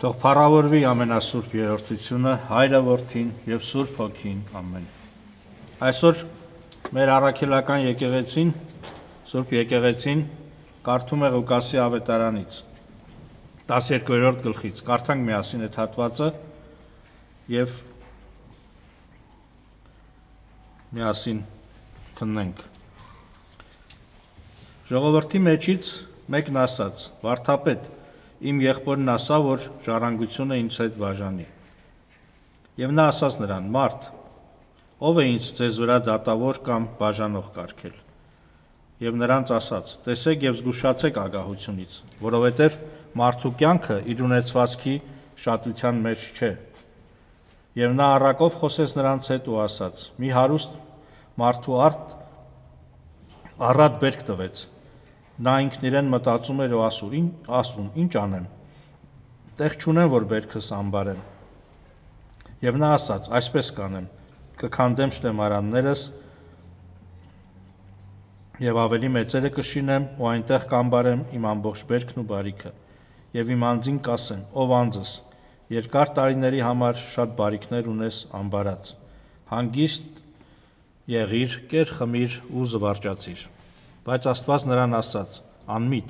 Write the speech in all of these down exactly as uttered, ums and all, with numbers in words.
Թող փառավորվի ամենասուրբ երրորդությունը, Հայրը, Որդին և Սուրբ Հոգին, ամեն։ Այսօր մեր առաքելական եկեղեցին, Սուրբ եկեղեցին կարդում է Ղուկասի ավետարանից, տասներկուերորդ գլխից, կարդանք միասին այդ հատվածը և միասին քննենք։ Ժողովրդի մեջից մեկն ասաց. «Վարդապետ, իմ եղբորն ասա, որ ժառանգությունը ինձ հետ բաժանի»։ Եվ նա ասաց նրան. «Մարդ, ով է ինձ ձեզ վրա դատավոր կամ բաժանող կարգել»։ Եվ նրանց ասաց. «Տեսեք և զգուշացեք ագահությունից, որովհետև մարդու կյանքը իր ունեցվածքի շատության մեջ չէ»։ Եվ նա առակով խոսեց նրանց հետ ու ասաց. «Մի հարուստ մարդու արդ առատ բերք տվեց։ Նա ինքն իրեն մտածում էր ու ասում. ինչ անեմ, տեղ չունեմ, որ բերքս ամբարեմ։ Եվ նա ասաց. այսպես կանեմ, կքանդեմ շտեմարաններս և ավելի մեծերը կշինեմ ու այնտեղ կամբարեմ իմ ամբողջ բերքն ու բարիքը։ Եվ իմ անձին կասեմ. ով անձս, երկար տարիների համար շատ բարիքներ ունես ամբարած, հանգիստ եղիր, կեր խմիր ու զվարճացիր։ Բայց Աստված նրան ասաց. անմիտ,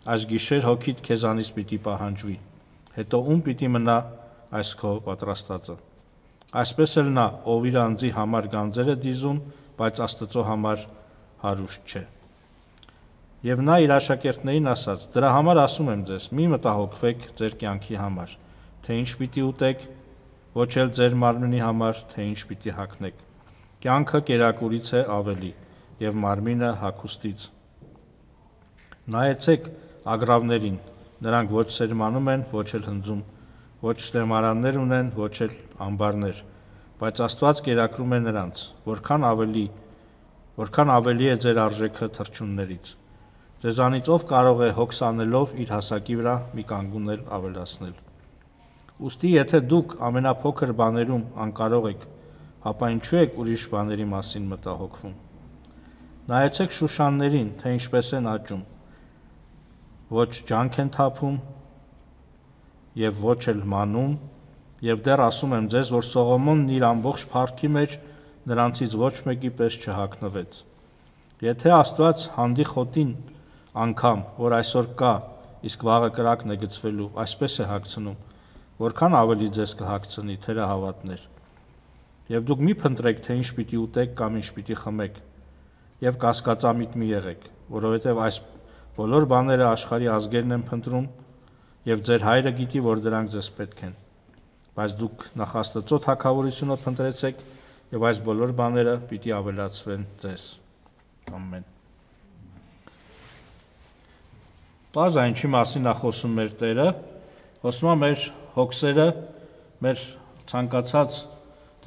այս գիշեր հոգիդ քեզանից պիտի պահանջվի, հետո ում պիտի մնա այս քո պատրաստածը։ Այսպես էլ նա, ով իր անձի համար գանձեր է դիզում, բայց Աստծո համար հարուստ չէ։ Եվ նա իր աշակերտներին ասաց. դրա համար ասում եմ ձեզ, մի մտահոգվեք ձեր կյանքի համար, թե ինչ պիտի ուտեք, ոչ էլ ձեր մարմնի համար, թե ինչ պիտի հագնեք։ Կյանքը կերակուրից է ավելի, և մարմինը հագուստից։ Նայեցեք ագռավներին, նրանք ոչ սերմանում են, ոչ էլ հնձում, ոչ շտեմարաններ ունեն, ոչ էլ ամբարներ, բայց Աստված կերակրում է նրանց, որքան ավելի, որքան ավելի է ձեր արժեքը թռչուններից։ Ձեզանից ով կարող է հոգս անելով իր հասակի վրա մի կանգուն էլ ավելացնել։ Ուստի եթե դուք ամենափոքր բաներում անկարող եք, ապա ինչու եք ուրիշ բաների մասին մտահոգվում։ Նայեցեք շուշաններին, թե ինչպես են աճում, ոչ ջանք են թափում և ոչ էլ մանում, և դեռ ասում եմ ձեզ, որ Սողոմոնն իր ամբողջ փառքի մեջ նրանցից ոչ մեկի պես չհագնվեց։ Եթե Աստված հանդի խոտին անգամ, որ այսօր կա, իսկ վաղը կրակն է գցվելու, այսպես է հագցնում, որքան ավելի ձեզ կհագցնի, թերահավատներ։ Եվ դուք մի փնտրեք, թե ինչ պիտի ուտեք կամ ինչ պիտի խմեք, և կասկածամիտ մի եղեք, որովհետև այս բոլոր բաները աշխարհի ազգերն են փնտրում, և ձեր Հայրը գիտի, որ դրանք ձեզ պետք են։ Բայց դուք նախ Աստծո թագավորությունը փնտրեցեք, և այս բոլոր բաները պիտի ավելացվեն ձեզ։ Ամեն։ Պարզ է, ինչի մասին է խոսում մեր Տերը, խոսում է մեր հոգսերը, մեր ցանկացած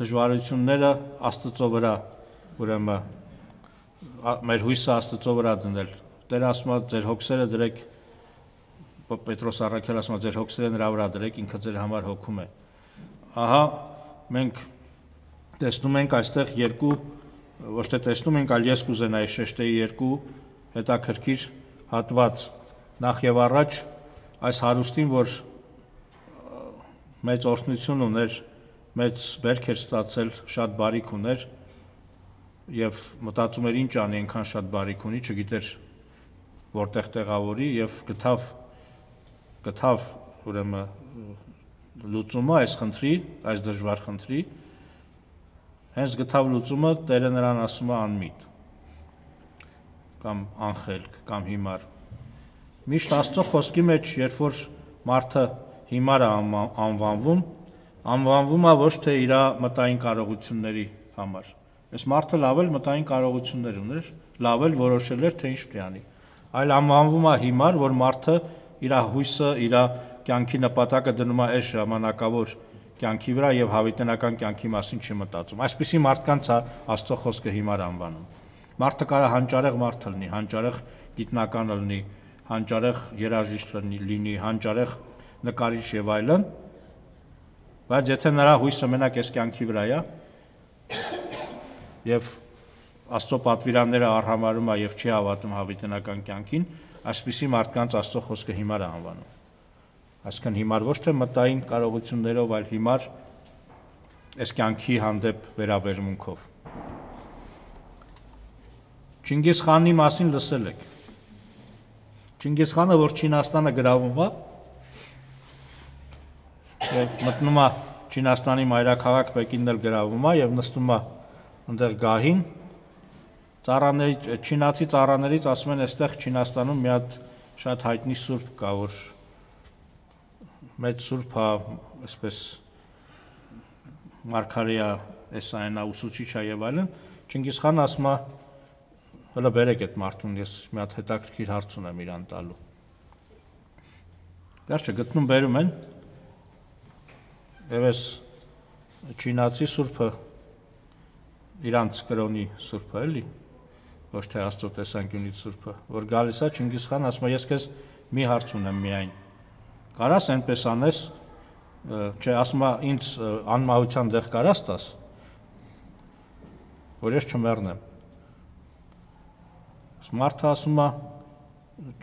դժվարությունները Աստծո վրա, ուրեմն մեր հույսը Աստծո վրա դնել։ Տերը ասում է, ձեր հոգսերը դրեք, Պետրոս առաքյալը ասում է, ձեր հոգսերը նրա վրա դրեք, ինքը ձեր համար հոգում է։ Ահա մենք տեսնում ենք այստեղ երկու, ոչ թե տեսնում ենք, այլ ես կուզենայի շեշտեի երկու հետաքրքիր հատված։ Նախ եւ առաջ այս հարուստին, որ մեծ օրհնություն ուներ, մեծ բերք էր ստացել, շատ բարիք ուներ և մտածում էր ինչ անի, այնքան շատ բարիք ունի, չգիտեր որտեղ տեղավորի և գտավ, գտավ ուրեմն լուծումը այս խնդրի, այս դժվար խնդրի, հենց գտավ լուծումը, Տերը նրան ասում է անմիտ կամ անխելք կամ հիմար։ Միշտ Աստծո խոսքի մեջ, երբ որ մարդը հիմար է անվանվում, անվանվում է ոչ թե իր մտային կարողությունների համար։ Այս մարդը լավ էլ մտային կարողություններ ուներ, լավ էլ որոշել էր, թե ինչ պետք է անի, այլ անվանվում է հիմար, որ մարդը իր հույսը, իր կյանքի նպատակը դնում է այս ժամանակավոր կյանքի վրա և հավիտենական կյանքի մասին չի մտածում։ Այսպիսի մարդկանց է Աստծո խոսքը հիմար անվանում։ Մարդը կարող է հանճարեղ մարդ լինի, հանճարեղ գիտնական լինի, հանճարեղ երաժիշտ լինի, հանճարեղ նկարիչ եւ այլն, բայց եթե նրա հույսը մենակ այս կյանքի վրա է եւ Աստծո պատվիրանները արհամարհում է եւ չի հավատում հավիտենական կյանքին, այսպիսի մարդկանց Աստծո խոսքը հիմար է անվանում։ Այսինքն հիմար ոչ թե մտային կարողություններով, այլ հիմար այս կյանքի հանդեպ վերաբերմունքով։ Չինգիզ խանի մասին լսել եք։ Չինգիզ խանը, որ Չինաստանը գրավում է, եւ մտնում է Չինաստանի մայրաքաղաք Պեկինն էլ գրավում է եւ նստում է այնտեղ գահին, ծառաների չինացի ծառաներից ասում են, այստեղ Չինաստանում մի հատ շատ հայտնի սուրբ կա, որ մեծ սուրբ է, այսպես մարգարեա, էսայնա, ուսուցիչ է եւ այլն։ Չինգիզ խանը ասում է, հələ բերեք այդ մարդուն, ես մի հատ հետաքրքիր հարց ունեմ իրան տալու։ Վերջը գտնում բերում են, եւ այս չինացի սուրբը իրանց կրոնի սուրբը էլի, ոչ թե Աստծո տեսանկյունից սուրբը, որ գալիս է Չինգիզ խան, ասում է, ես քեզ մի հարց ունեմ միայն։ Կարաս այնպես անես, չէ, ասում է, ինձ անմահության դեղ կարաս տաս, որ ես չմեռնեմ։ Մարդը ասում է,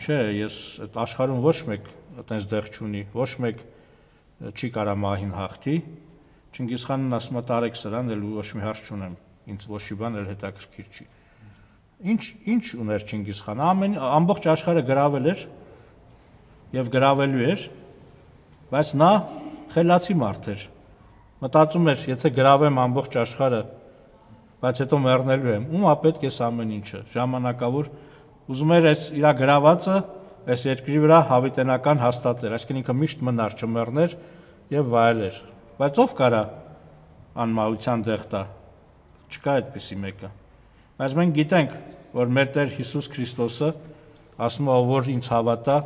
չէ, ես այդ աշխարհում ոչ մեկ այդպես դեղ չունի, ոչ մեկ չի կարա մահին հաղթի։ Չինգիզ խանն ասում է, տարեք սրան, էլ ոչ մի հարց չունեմ, ինձ ոչ մի բան էլ հետաքրքիր չի։ Ինչ ինչ ուներ Չինգիզ խանը, ամեն ամբողջ աշխարհը գրավել էր եւ գրավելու էր, բայց նա խելացի մարդ էր։ Մտածում էր, եթե գրավեմ ամբողջ աշխարհը, բայց հետո մեռնելու եմ, ում է պետք է ամեն ինչը, ժամանակավոր ուզում էր այս իր գրավածը այս երկրի վրա հավիտենական հաստատել, այսինքն ինքը միշտ մնար, չմեռներ եւ վայելեր։ Բայց ով կարա անմահության դեղ տա։ Չկա այդպիսի մեկը։ Բայց մենք գիտենք, որ մեր Տեր Հիսուս Քրիստոսը ասում է, որ ինձ հավատա,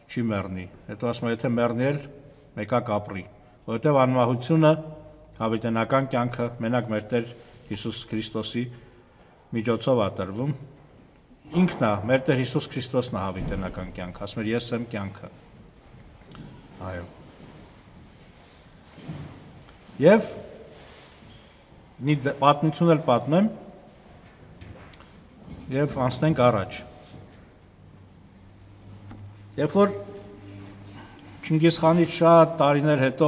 չի մեռնի։ Հետո ասում է, եթե մեռնի էլ մեկա կապրի, որովհետեւ անմահությունը հավիտենական կյանքը մենակ մեր Տեր Հիսուս Քրիստոսի միջոցով է տրվում։ Ինքն է, մեր Տեր Հիսուս Քրիստոսն է հավիտենական կյանք, ասում է, ես եմ կյանքը։ Այո։ Եվ մի պատմություն էլ պատմեմ եւ անցնենք առաջ։ Երբ որ Չինգիզ խանից շատ տարիներ հետո,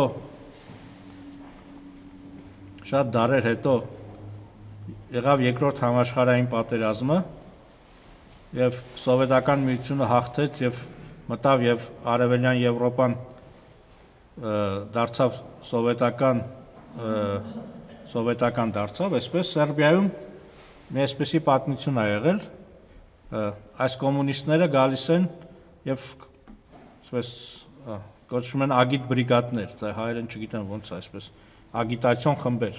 շատ դարեր հետո եղավ երկրորդ համաշխարհային պատերազմը եւ սովետական միությունը հաղթեց եւ մտավ եւ արևելյան Եվրոպան դարձավ սովետական սովետական դարձավ, այսպես Սերբիայում մի այսպեսի պատմություն է եղել, այս կոմունիստները գալիս են եւ այսպես կոչվում են ագիտ բրիգադներ, դա հայերեն չգիտեմ ոնց է այսպես, ագիտացիոն խմբեր,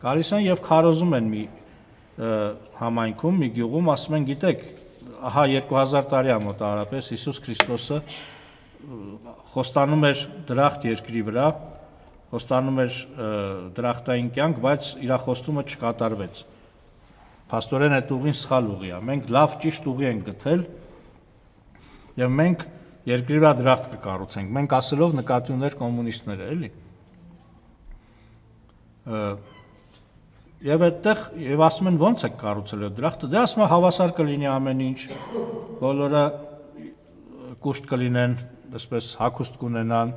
գալիս են եւ քարոզում են մի համայնքում, մի գյուղում, ասում են, գիտեք, ահա երկու հազար տարի է մոտավորապես Հիսուս Քրիստոսը խոստանում էր դրախտ երկրի վրա, խոստանում էր դրախտային կյանք, բայց իր խոստումը չկատարվեց։ Փաստորեն այդ ուղին սխալ ուղի է։ Մենք լավ ճիշտ ուղի ենք գտել եւ մենք երկրի վրա դրախտ կկառուցենք։ Մենք ասելով նկատի ուներ կոմունիստները, էլի։ Եվ այդտեղ եւ ասում են ո՞նց է կառուցել այդ դրախտը։ Դե ասում է հավասար կլինի ամեն ինչ, բոլորը կուշտ կլինեն, այսպես հագուստ կունենան,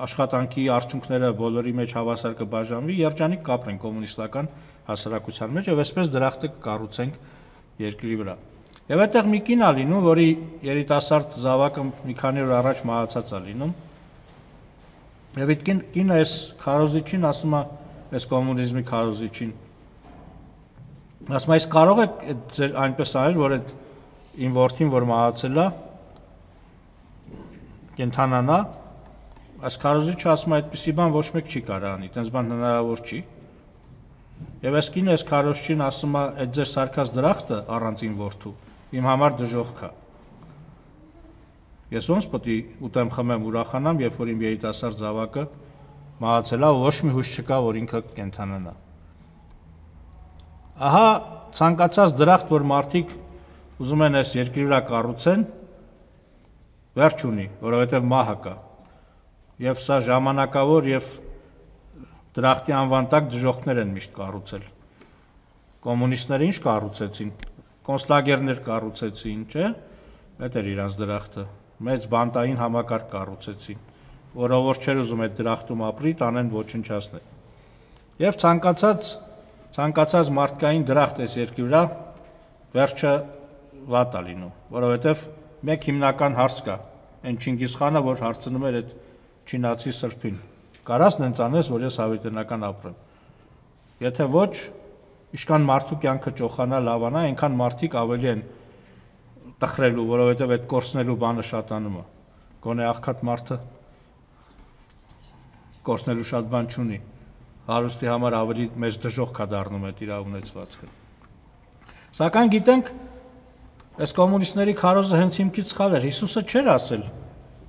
աշխատանքի արդյունքները բոլորի մեջ հավասար կբաժանվի, երջանիկ կապրեն կոմունիստական հասարակության մեջ եւ այսպես դրախտը կկառուցենք երկրի վրա։ Եվ այդտեղ մի կին է լինում, որի երիտասարդ զավակը մի քանի օր առաջ մահացած է լինում։ Եվ այդ կինը այս քարոզիչին ասում է, այս կոմունիզմի քարոզիչին, ասում է, այս կարող եք ձեր այնպես անել, որ այդ իմ որդին, որ մահացել է, կենթանանա, այս քարոզիչը ասում է, այդպիսի բան ոչ մեկ չի կարող անի, այդպես բան հնարավոր չի։ Եվ այս կինը այս քարոզչին ասում է, այդ ձեր սարքած դրախտը առանց իմ որդու իմ համար դժոխք է։ Ես ոնց պետք է ուտեմ խմեմ ուրախանամ, երբ որ իմ երիտասարդ զավակը մահացել է, ոչ մի հույս չկա, որ ինքը կենթանանա։ Ահա ցանկացած դրախտ, որ մարդիկ ուզում են այս երկրի վրա կառուցեն, վերջ ունի, որովհետև մահը կա։ Եվ սա ժամանակավոր եւ դրախտի անվան տակ դժոխքներ են միշտ կառուցել։ Կոմունիստները ինչ կառուցեցին, կոնցլագերներ կառուցեցին, չէ՞։ Այդ էր իրանց դրախտը։ մեծ բանտային համակարգ կառուցեցին, որը որ չէր ուզում այդ դրախտում ապրի, տանեն ոչնչացնել։ Եվ ցանկացած ցանկացած մարդկային դրախտ այս երկրի վրա վերջը վատ է լինում, որովհետև մեկ հիմնական հարց կա, այն Չինգիզ խանը, որ հարցնում էր այդ չինացի սրբին, կարաս նենց անես, որ ես հավիտենական ապրեմ։ Եթե ոչ, ինչքան մարդու կյանքը ճոխանա, լավանա, այնքան մարդիկ ավելի են տխրելու, որովհետև այդ կորցնելու բանը շատանում է։ Գոնե աղքատ մարդը կորցնելու շատ բան չունի, հարուստի համար ավելի մեծ դժոխք կա դառնում այդ իր ունեցվածքը։ Սակայն գիտենք, այս կոմունիստների քարոզը հենց հիմքից սխալ էր։ Հիսուսը չէր ասել,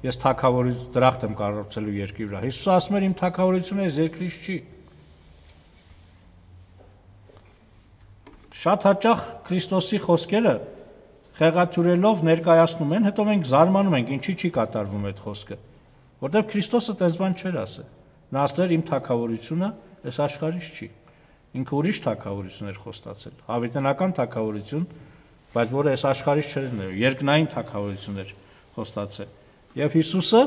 ես թագավորից դրախտ եմ կառուցելու երկրի վրա։ Հիսուսը ասում էր, իմ թագավորությունը այս երկրից չի։ Շատ հաճախ Քրիստոսի խոսքերը խեղաթյուրելով ներկայացնում են, հետո մենք զարմանում ենք, ինչի չի կատարվում այդ խոսքը, որտեղ Քրիստոսը տես բան չէր ասել։ Նա ասել իմ թագավորությունը այս աշխարհից չի։ Ինքը ուրիշ թագավորություն էր խոստացել, հավիտենական թագավորություն, բայց որը այս աշխարհից չէր ներում, երկնային թագավորություն էր խոստացել։ Եվ Հիսուսը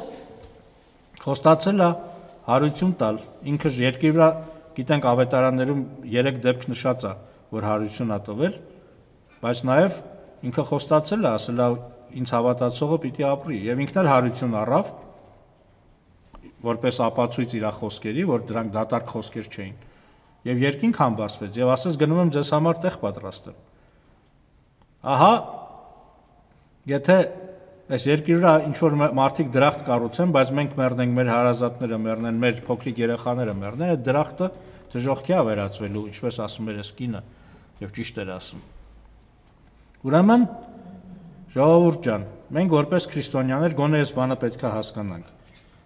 խոստացել է հարություն տալ, ինքը երկրի վրա գիտենք ավետարաններում երեք դեպք նշած է, որ հարություն է տվել, բայց նաև ինքը խոստացել է, ասել է ինձ հավատացողը պիտի ապրի, եւ ինքն էլ հարություն առավ, որպես ապացույց իր խոսքերի, որ դրանք դատարկ խոսքեր չէին։ Եվ երկինք համբարձվեց եւ ասեց գնում եմ ձեզ համար տեղ պատրաստեմ։ Ահա, եթե այս երկրի վրա ինչ որ մարդիկ դրախտ կառուցեն, բայց մենք մեռնենք, մեր հարազատները մեռնեն, մեր փոքրիկ երեխաները մեռնեն, այդ դրախտը դժոխքի է վերածվելու, ինչպես ասում էր այս կինը, եւ ճիշտ էր ասում։ Ուրեմն, ժողովուրդ ջան, մենք որպես քրիստոնյաներ գոնե այս բանը պետք է հասկանանք։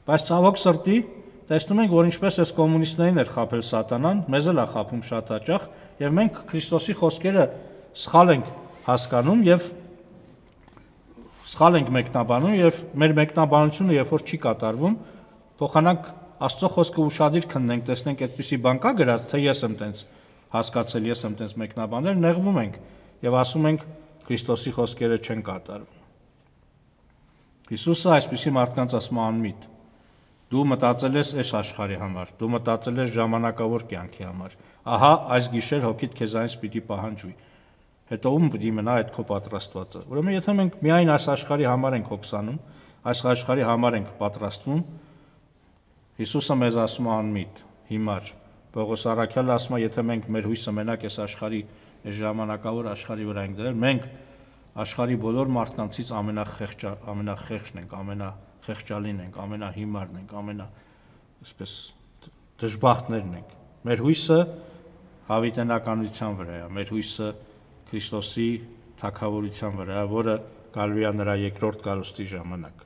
Բայց ցավոք սրտի տեսնում ենք, որ ինչպես այս կոմունիստներին էր խաբել սատանան, մեզ էլ է խաբում շատ հաճախ, եւ մենք Քրիստոսի խոսքերը սխալ ենք հասկանում եւ սխալ ենք մեկնաբանում եւ մեր մեկնաբանությունը երբ որ չի կատարվում, փոխանակ Աստծո խոսքը ուշադիր քննենք, տեսնենք այդպիսի բան կա գրած, թե ես եմ տենց հասկացել, ես եմ տենց մեկնաբանել, նեղվում ենք եւ ասում ենք Քրիստոսի խոսքերը չեն կատարվում։ Հիսուսը այսպիսի մարդկանց ասում է անմիտ։ Դու մտածել ես այս աշխարհի համար, դու մտածել ես ժամանակավոր կյանքի համար։ Ահա այս գիշեր հոգիդ քեզանից պիտի պահանջվի։ Հետո ում պիտի մնա այդ քո պատրաստվածը։ Ուրեմն եթե մենք միայն այս աշխարհի համար ենք հոգսանում, այս աշխարհի համար ենք պատրաստվում, Հիսուսը մեզ ասում է անմիտ, հիմար։ Պողոս առաքյալը ասում է, եթե մենք մեր հույսը մենակ այս աշխարհի, այս ժամանակավոր աշխարհի վրա ենք դրել, մենք աշխարհի բոլոր մարդկանցից ամենախեղճ ամենախեղճն ենք, ամենախեղճալին ենք, ամենահիմարն ենք, ամենա այսպես դժբախտներն ենք։ Մեր հույսը հավիտենականության վրա է, մեր հույսը Քրիստոսի թագավորության վրա, որը գալու է նրա երկրորդ գալուստի ժամանակ։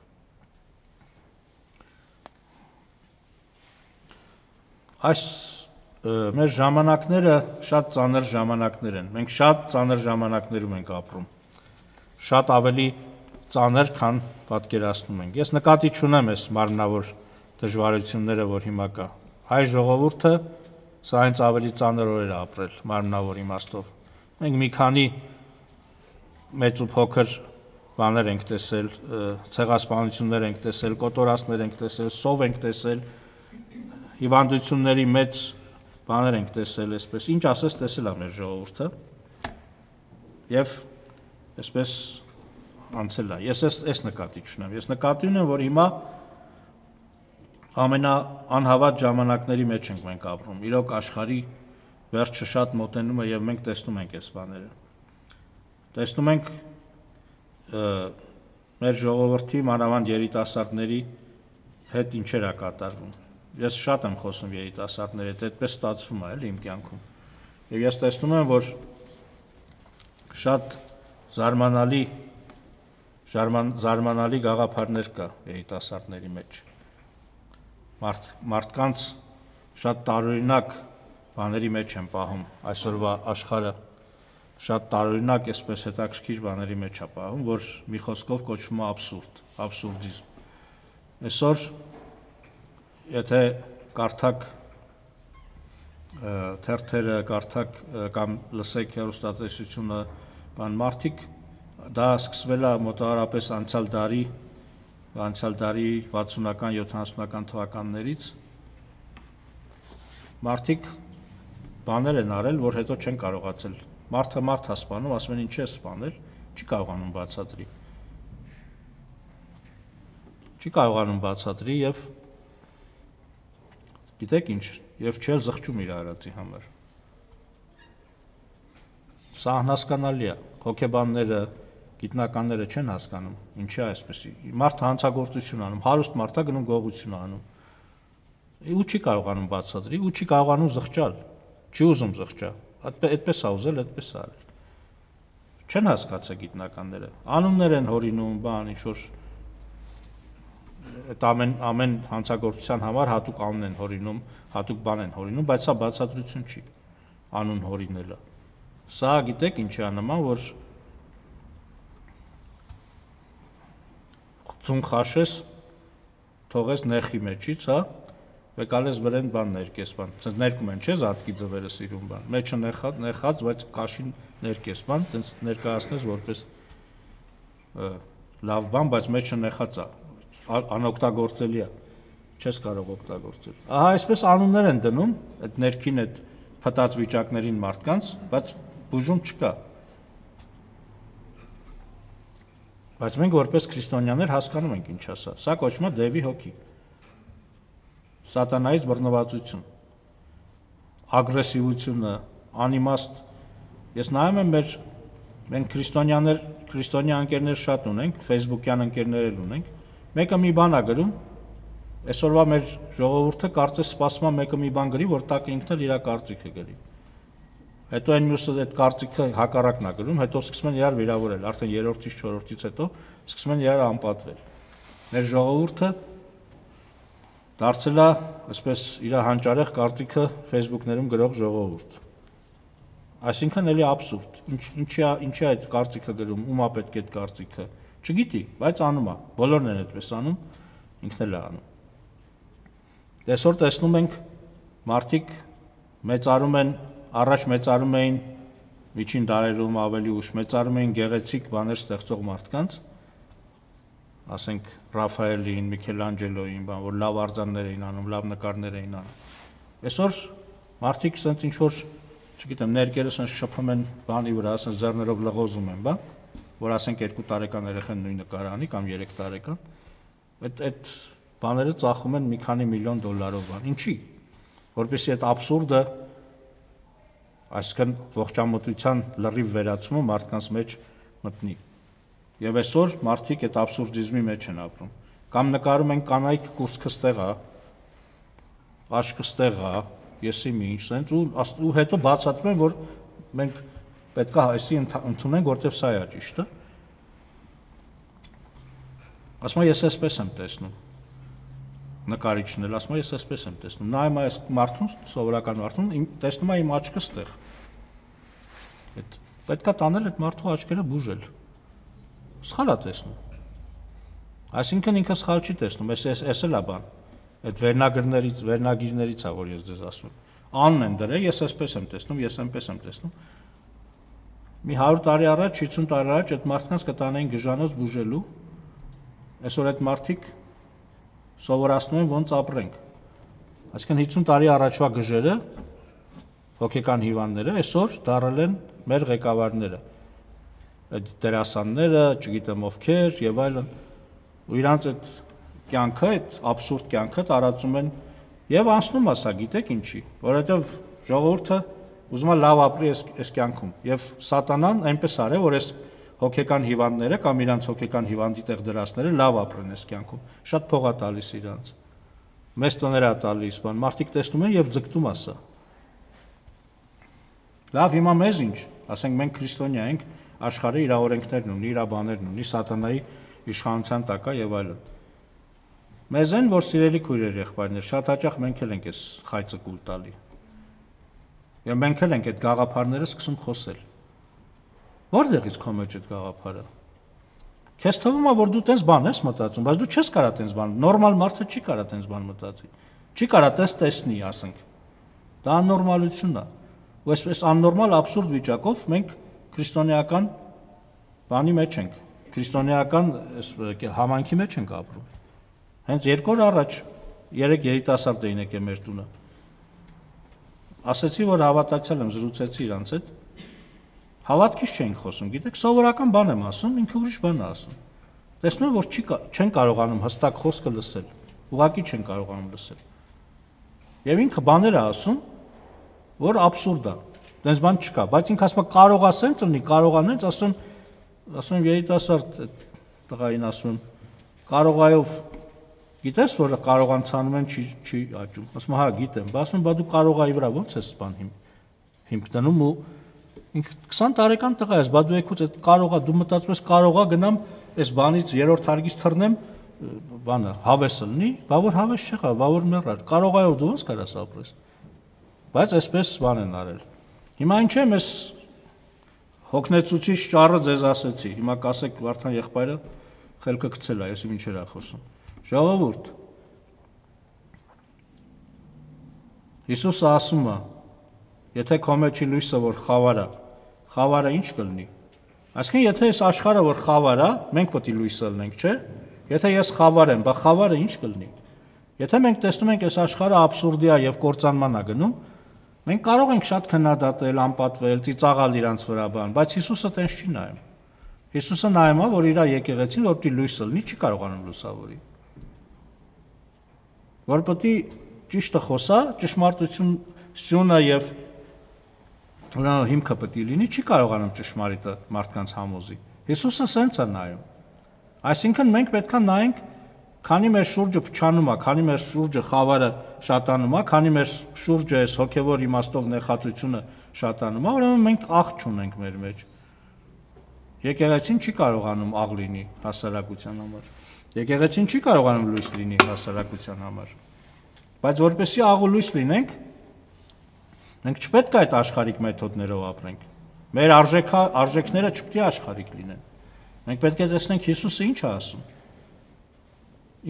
Այս մեր ժամանակները շատ ծանր ժամանակներ են։ Մենք շատ ծանր ժամանակներում ենք ապրում։ Շատ ավելի ծանր, քան պատկերացնում ենք։ Ես նկատի չունեմ այս մարմնավոր դժվարությունները, որ հիմա կա։ Հայ ժողովուրդը սա հենց ավելի ծանր օրեր է ապրել մարմնավոր իմաստով։ Մենք մի քանի մեծ ու փոքր բաներ ենք տեսել, ցեղասպանություններ ենք տեսել, կոտորածներ ենք տեսել, սով ենք տեսել, հիվանդությունների մեծ բաներ ենք տեսել, այսպես ինչ ասես տեսել է մեր ժողովուրդը եւ այսպես անցել է։ Ես այս այս նկատի չունեմ։ Ես նկատի ունեմ, որ հիմա ամենաանհավատ ժամանակների մեջ ենք մենք ապրում։ Իրոք աշխարհի վերջը շատ մոտենում է եւ մենք տեսնում ենք այս բաները։ Տեսնում ենք մեր ժողովրդի մանավանդ երիտասարդների հետ ինչեր է կատարվում։ Ես շատ եմ խոսում երիտասարդների հետ, այդպես ստացվում է էլի իմ կյանքում։ Եվ ես տեսնում եմ, որ շատ զարմանալի զարմանալի գաղափարներ կա երիտասարդների մեջ։ Մարդ, մարդկանց շատ տարօրինակ բաների մեջ են պահում այսօրվա աշխարհը, շատ տարօրինակ այսպես հետաքրքիր բաների մեջ է պահում, որ մի խոսքով կոչվում է աբսուրդ, աբսուրդիզմ։ Այսօր եթե կարդակ թերթերը, կարդակ կամ լսեք հեռուստատեսությունը, բան մարդիկ դա սկսվել է մոտավորապես անցյալ դարի անցյալ դարի վաթսունական յոթանասունական թվականներից մարդիկ բաներ են արել, որ հետո չեն կարողացել։ Մարդը մարդ է սպանում, ասում են ինչ է սպանել, չի կարողանում բացատրի։ Չի կարողանում բացատրի եւ գիտեք ինչ, եւ չել զղջում իր արածի համար։ Սա անհասկանալի է։ Հոգեբանները, գիտնականները չեն հասկանում, ինչի է այսպեսի։ Մարդը հանցագործություն անում, հարուստ մարդը գնում գողություն անում։ Ու չի կարողանում բացատրի, ու չի կարողանում զղջալ, չի ուզում զղջալ։ Այդպես է ուզել, այդպես է արել։ Չեն հասկացել գիտնականները։ Անուններ են հորինում, բան, ինչ որ այդ ամեն ամեն հանցագործության համար հատուկ անուն են հորինում, հատուկ բան են հորինում, բայց սա բացատրություն չի անուն հորինելը։ Սա գիտեք ինչ է նման, որ ծուն խաշես թողես նեխի մեջից, հա, եկալես վրեն բան ներկես բան, ցած ներկում են, չէ՞, զատկի ձվերը սիրուն բան, մեջը նեխած, նեխած, բայց կաշին ներկես բան, տենց ներկայացնես որպես լավ բան, բայց մեջը նեխած է, անօգտագործելի է, չես կարող օգտագործել։ Ահա այսպես անուններ են դնում այդ ներքին այդ փտած վիճակներին մարդկանց, բայց բուժում չկա։ Բայց մենք որպես քրիստոնյաներ հասկանում ենք ինչ է սա։ Սա կոչվում է դևի հոգի։ Սատանայից բռնվածություն, ագրեսիվությունը, անիմաստ։ Ես նայում եմ մեր մենք քրիստոնյաներ, քրիստոնյա ընկերներ շատ ունենք, Facebook-յան ընկերներ ունենք։ Մեկը մի բան է գրում, այսօրվա մեր ժողովուրդը կարծես սպասում է մեկը մի բան գրի, որ տակ ինքն էլ իր կարծիքը գրի։ Հետո այն մյուսը այդ կարծիքը հակառակն է գրում, հետո սկսում են իրար վիրավորել, արդեն երրորդից, չորրորդից հետո սկսում են իրար անպատվել։ Մեր ժողովուրդը դարձել է, այսպես իր հանճարեղ կարծիքը Facebook-ներում գրող ժողովուրդ։ Այսինքն էլի աբսուրդ։ Ինչ ինչի է, ինչի է այդ կարծիքը գրում, ում է պետք է այդ կարծիքը։ Չգիտի, բայց անում է։ Բոլորն են այդպես անում, ինքն էլ է անում։ Այսօր տեսնում ենք մարդիկ մեծարում են, առաջ մեծարում էին միջին դարերում ավելի ուշ մեծարում էին գեղեցիկ բաներ ստեղծող մարդկանց, ասենք Ռաֆայելին, Միքելանջելոին, բան, որ լավ արձաններ էին անում, լավ նկարներ էին անում։ Այսօր մարդիկ ասենք ինչ որ, չգիտեմ, ներկերս են շփում են բանի վրա, ասենք ձեռներով լղոզում են, բա, որ ասենք երկու տարեկան երեխան նույնը կարանի կամ երեք տարեկան, այդ այդ բաները ծախում են մի քանի միլիոն դոլարով բան։ Ինչի՞։ Որպեսզի այդ աբսուրդը, այսինքն ողջամտության լրիվ վերացումը մարդկանց մեջ մտնի։ Եվ այսօր մարդիկ այդ աբսուրդիզմի մեջ են ապրում։ Կամ նկարում են կանայք կուրծքը ստեղ է, աշկը ստեղ է, եսի մի ինչ sense ու ու հետո բացատրում են, որ մենք պետք է այսի ընդունենք, որտեվ սա է ճիշտը։ Ասում եմ, ես այսպես եմ տեսնում։ Նկարիչն էլ ասում եմ, ես այսպես եմ տեսնում։ Նայում այս մարդուն, սովորական մարդուն, տեսնում եմ իմ աչքը ստեղ։ Այդ պետք է տանել այդ մարդու աչքերը բուժել։ Սխալ է տեսնում։ Այսինքն ինքը սխալ չի տեսնում, էս էս էլ է բան։ Այդ վերնագրներից, վերնագիրներից է, որ ես ձեզ ասում եմ։ Անն են դրել, ես այսպես եմ տեսնում, ես այնպես եմ տեսնում։ Մի հարյուր տարի առաջ, ութսուն տարի առաջ այդ մարդկանց կտանեին գժանոց բուժելու։ Այսօր այդ մարդիկ սովորացնում են ոնց ապրենք։ Այսինքն ութսուն տարի առաջվա գժերը, հոգեկան հիվանդները, այսօր դառել են մեր ղեկավարները։ Այդ դերասանները, չգիտեմ ովքեր եւ այլն, ու իրանց այդ կյանքը, այդ աբսուրդ կյանքը տարածում են եւ անցնում է սա, գիտեք ինչի, որովհետեւ ժողովուրդը ուզում է լավ ապրի այս այս կյանքում եւ սատանան այնպես արել, որ այս հոգեկան հիվանդները կամ իրանց հոգեկան հիվանդի տեղ դրածները լավ ապրեն այս կյանքում, շատ փող է տալիս իրանց, մեծ տոներ է տալիս, բան, մարդիկ տեսնում են եւ ձգտում է սա։ Լավ, հիմա մեզ ինչ, ասենք մենք քրիստոնյա ենք, աշխարհը իր օրենքներն ունի, իր բաներն ունի, սատանայի իշխանության տակ է եւ այլն։ Մեզ են, որ սիրելի քույրեր եղբայրներ, շատ հաճախ մենք էլ ենք այս խայծը կուլ տալի։ Եվ մենք էլ ենք այդ գաղափարները սկսում խոսել։ Որտեղից քո մեջ այդ գաղափարը։ Քեզ թվում է, որ դու տենց բան ես մտածում, բայց դու չես կարա տենց բան, նորմալ մարդը չի կարա տենց բան մտածի։ Չի կարա տենց տեսնի, ասենք։ Դա աննորմալություն է։ Ու այսպես աննորմալ աբսուրդ վիճակով մենք քրիստոնեական բանի մեջ ենք։ քրիստոնեական համայնքի մեջ ենք ապրում։ Հենց երկու օր առաջ երեք երիտասարդ էին եկել մեր տունը։ Ասացի, որ հավատացյալ եմ, զրուցեցի իրանց հետ։ Հավատքից չենք խոսում, գիտեք, սովորական բան եմ ասում, ինքը ուրիշ բան է ասում։ Տեսնում եմ, որ չի չեն կարողանում հստակ խոսքը լսել, ուղղակի չեն կարողանում լսել։ Եվ ինքը բաներ է ասում, որ աբսուրդ է, դες բան չկա, բայց ինքը ասում է կարող է սենց լինի, կարող է նենց, ասում ասում եմ երիտասարդ տղային ասում եմ, կարողայով գիտես, որ կարողանցանում են չի չի աճում։ Ասում եմ, հա, գիտեմ, բայց ասում եմ, բա դու կարողայի վրա ո՞նց ես բան հիմ հիմք դնում ու ինքը քսան տարեկան տղա ես, բա դու եկուց այդ կարողա, դու մտածում ես կարողա գնամ այս բանից երրորդ հարգից թռնեմ, բանը հավեսը լինի, բա որ հավես չեղա, բա որ մեռար, կարողայով դու ո՞նց կարաս ապրես։ Բայց այսպես բան են արել։ Հիմա ինչ եմ ես հոգնեցուցիչ ճառը ձեզ ասեցի, հիմա կասեք Վարդան եղբայրը խելքը գցել է, ես ինչեր է խոսում։ Ժողովուրդ, Հիսուսը ասում է, եթե քո մեջի լույսը որ խավար է, խավարը ինչ կլինի։ Այսինքն եթե այս աշխարհը որ խավար է, մենք պետք է լույսը լինենք, չէ՞։ Եթե ես խավար եմ, բա խավարը ինչ կլինի։ Եթե մենք տեսնում ենք այս աշխարհը աբսուրդի է եւ կործանման է գնում, մենք կարող ենք շատ քննադատել, անպատվել, ծիծաղալ իրանց վրա բան, բայց Հիսուսը տենց չի նայում։ Հիսուսը նայում է, որ իր եկեղեցին որպեսզի լույսը լինի, չի կարողանում լուսավորի։ Որ պետք է ճիշտը խոսա, ճշմարտությունը եւ ուրեմն հիմքը պետք է լինի, չի կարողանում ճշմարիտը մարդկանց համոզի։ Հիսուսը սենց է նայում։ Այսինքն մենք պետք է նայենք, քանի մեր շուրջը փչանում է, քանի մեր շուրջը խավարը շատանում է, քանի մեր շուրջը այս հոգևոր իմաստով նեղացությունը շատանում է, ուրեմն մենք աղ չունենք մեր մեջ։ Եկեղեցին չի կարողանում աղ լինի հասարակության համար։ Եկեղեցին չի կարողանում լույս լինի հասարակության համար։ Բայց որպեսզի աղ ու լույս լինենք, մենք չպետք է այդ աշխարհիկ մեթոդներով ապրենք։ Մեր արժեքա արժեքները չպետք է աշխարհիկ լինեն։ Մենք պետք է տեսնենք Հիսուսը ինչ է ասում։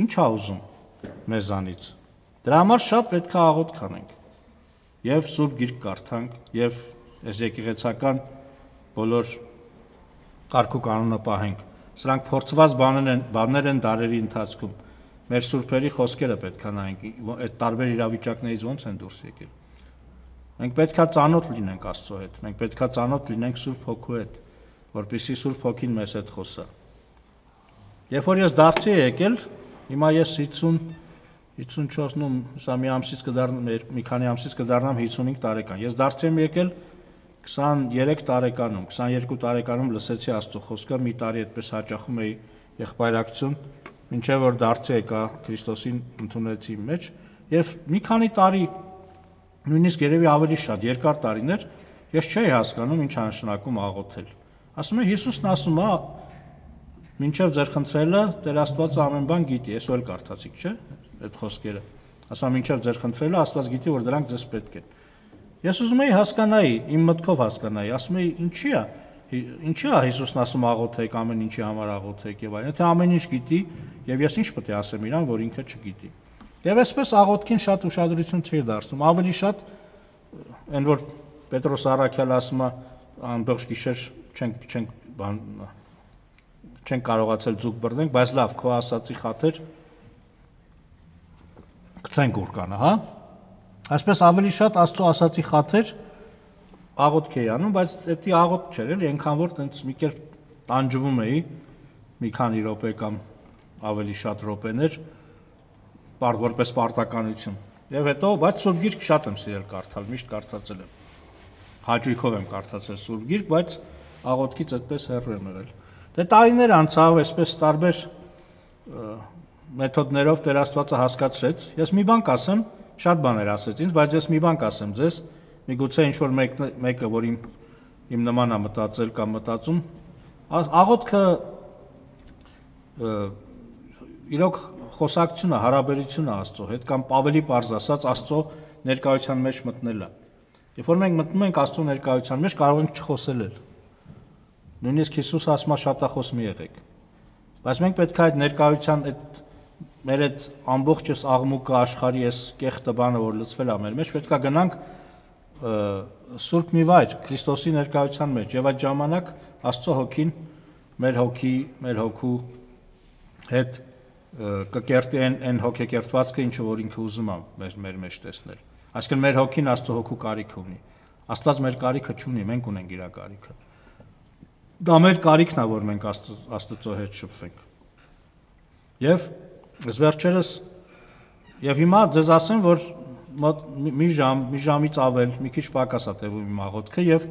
Ինչ է ուզում մեզանից։ Դրա համար շատ պետք է աղոթք անենք։ Եվ Սուրբ Գիրք կարդանք, եւ այս եկեղեցական բոլոր կարգ ու կանոնը պահենք։ Սրանք փորձված բաներ են, բաներ են դարերի ընթացքում։ Մեր սուրբերի խոսքերը պետք է նայենք, այդ տարբեր իրավիճակներից ոնց են դուրս եկել։ Մենք պետք է ծանոթ լինենք Աստծո հետ, մենք պետք է ծանոթ լինենք Սուրբ Հոգու հետ, որպեսզի Սուրբ Հոգին մեզ հետ խոսա։ Երբ որ ես դարձի եկել, հիմա ես հիսուն հիսունչորսում, սա մի ամսից կդառնամ, մի քանի ամսից կդառնամ հիսունհինգ տարեկան։ Ես դարձի եմ եկել քսաներեք տարեկանում, քսաներկու տարեկանում լսեցի Աստծո խոսքը, մի տարի այդպես հաճախում էի եղբայրակցություն, մինչև որ դարձի եկա Քրիստոսին ընդունեցի իմ մեջ, եւ մի քանի տարի, նույնիսկ երևի ավելի շատ, երկար տարիներ, ես չէի հասկանում ինչ անշնակում աղոթել։ Ասում է Հիսուսն ասում է, մինչև ձեր խնդրելը Տեր Աստվածը ամեն բան գիտի, ես էլ կարդացիք, չէ՞, այդ խոսքերը։ Ասում է մինչև ձեր խնդրելը Աստված գիտի, որ դրանք ձեզ պետք են։ Ես ուզում եի հասկանայի, իմ մտքով հասկանայի, ասում եի, ինչի է, ինչի է Հիսուսն ասում աղոթեք, ամեն ինչի համար աղոթեք եւ այլն։ Եթե ամեն ինչ գիտի, եւ ես ինչ պետք է ասեմ իրան, որ ինքը չգիտի։ Եվ այսպես աղոթքին շատ ուշադրություն չի դարձնում, ավելի շատ այն որ Պետրոս Առաքյալը ասում է ամբողջ գիշեր չենք չենք բան չենք կարողացել ձուկ բռնենք, բայց լավ, քո ասացի խաթեր գցենք ուրկանը, հա։ Այսպես ավելի շատ Աստծո ասացի խաթեր աղոթք էի անում, բայց դա աղոթք չէր, էլի, այնքան որ տենց մի կերպ տանջվում էի, մի քանի րոպե կամ ավելի շատ րոպեներ, որպես պարտականություն։ Եվ հետո, բայց Սուրբ Գիրք շատ եմ սիրել կարդալ, միշտ կարդացել եմ։ Հաճույքով եմ կարդացել Սուրբ Գիրք, բայց աղոթքից այդպես հեռու եմ եղել։ Դե տարիներ անցավ, այսպես տարբեր մեթոդներով Տեր Աստվածը հասկացրեց։ Ես մի բան կասեմ, շատ բաներ ասեց ինձ, բայց ես մի բան կասեմ ձեզ, միգուցե ինչ որ մեկը, որ իմ իմ նման է մտածել կամ մտածում, աղոթքը իրոք խոսակցությունը, հարաբերությունը Աստծո հետ կամ ավելի պարզ ասած Աստծո ներկայության մեջ մտնելը։ Երբ որ մենք մտնում ենք Աստծո ներկայության մեջ, կարող ենք չխոսել էլ։ Նույնիսկ Հիսուսը ասում է շատախոս մի եղեք։ Բայց մենք պետք է այդ ներկայության այդ մեր այդ ամբողջս աղմուկը աշխարհի այս կեղտը բանը որ լցվել է մեր մեջ, պետք է գնանք Սուրբ մի վայր Քրիստոսի ներկայության մեջ եւ այդ ժամանակ Աստծո հոգին մեր հոգի, մեր հոգու հետ կկերտի այն հոգեկերտվածքը, ինչը որ ինքը ուզում է մեր, մեր մեջ տեսնել։ Այսինքն մեր հոգին Աստծո հոգու կարիք ունի։ Աստված մեր կարիքը չունի, մենք ունենք իր կարիքը։ Դա մեր կարիքն է, որ մենք Աստծո հետ շփվենք։ Եվ ես վերջերս եւ հիմա ձեզ ասեմ, որ մի ժամ, մի ժամից ավել, մի քիչ պակաս է տևում իմ աղոթքը եւ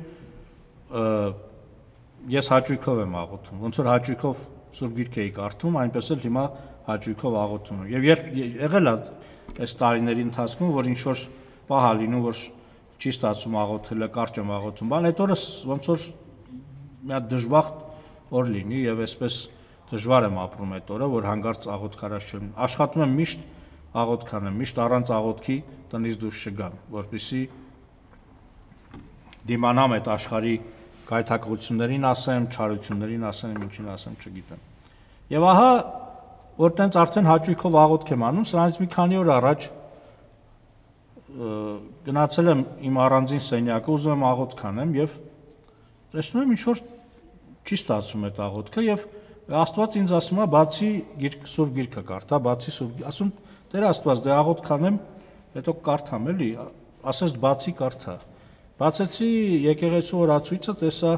ես հաճույքով եմ աղոթում։ Ոնց որ հաճույքով Սուրբ Գիրք էի կարդում, այնպես էլ հիմա հաճույքով աղոթում եմ։ Եվ երբ եղել է այս տարիների ընթացքում, որ ինչ որ պահ է լինում, որ չի ստացվում աղոթելը, կարճ եմ աղոթում, բան այդ օրը ոնց որ մի հատ դժբախտ օր լինի եւ այսպես դժվար եմ ապրում այդ օրը, որ հանգարց աղոթքարած չեմ։ Աշխատում եմ միշտ աղոթք անեմ, միշտ առանց աղոթքի տնից դուրս չգամ, որպեսզի դիմանամ այդ աշխարհի գայթակղություններին ասեմ, չարություններին ասեմ, ինչին ասեմ, չգիտեմ։ Եվ ահա, որ տենց արդեն հաճույքով աղոթք եմ անում, սրանից մի քանի օր առաջ գնացել եմ իմ առանձին սենյակը, ուզում եմ աղոթք անեմ եւ տեսնում եմ ինչ որ չի ստացվում այդ աղոթքը եւ Աստված ինձ ասում է բացի գիրք Սուրբ Գիրքը կարդա, բացի Սուրբ, ասում Տեր Աստված, դե աղոթք անեմ, հետո կարդամ էլի, ասես բացի կարդա։ Բացեցի եկեղեցու օրացույցը, տեսա